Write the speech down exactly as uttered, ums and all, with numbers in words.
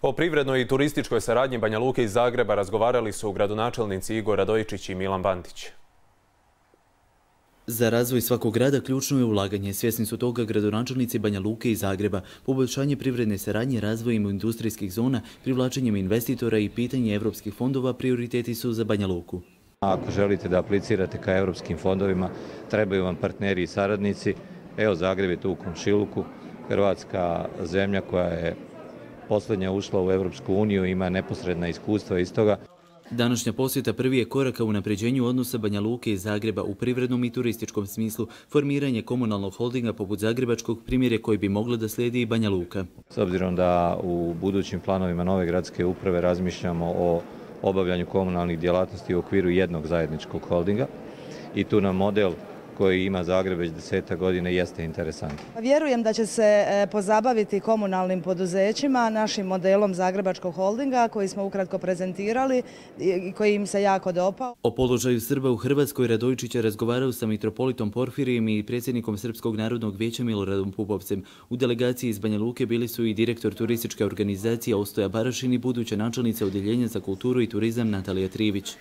O privrednoj i turističkoj saradnji Banja Luke i Zagreba razgovarali su gradonačelnici Igor Radojičić i Milan Bandić. Za razvoj svakog grada ključno je ulaganje. Svjesni su toga gradonačelnici Banja Luke i Zagreba. Poboljšanje privredne saradnje razvojem industrijskih zona, privlačenjem investitora i pitanje evropskih fondova prioriteti su za Banja Luku. Ako želite da aplicirate ka evropskim fondovima, trebaju vam partneri i saradnici. Evo, Zagreb je tu u komšiluku, Hrvatska zemlja koja je posljednja ušla u Evropsku uniju, ima neposredna iskustva iz toga. Današnja posjeta prvi je korak ka unapređenju odnosa Banja Luke i Zagreba u privrednom i turističkom smislu. Formiranje komunalnog holdinga poput zagrebačkog primjer je koji bi mogla da slijedi i Banja Luka. S obzirom da u budućim planovima nove gradske uprave razmišljamo o obavljanju komunalnih djelatnosti u okviru jednog zajedničkog holdinga i tu nam model koji ima Zagreb već deseta godine jeste interesantan. Vjerujem da će se pozabaviti komunalnim poduzećima, našim modelom Zagrebačkog holdinga koji smo ukratko prezentirali i koji im se jako dopao. O položaju Srba u Hrvatskoj Radojičić je razgovarao sa mitropolitom Porfirijem i predsjednikom Srpskog narodnog vijeća Miloradom Pupovcem. U delegaciji iz Banja Luke bili su i direktor turističke organizacije Ostoja Barašin i buduća načelnica Odjeljenja za kulturu i turizam Natalija Trivić.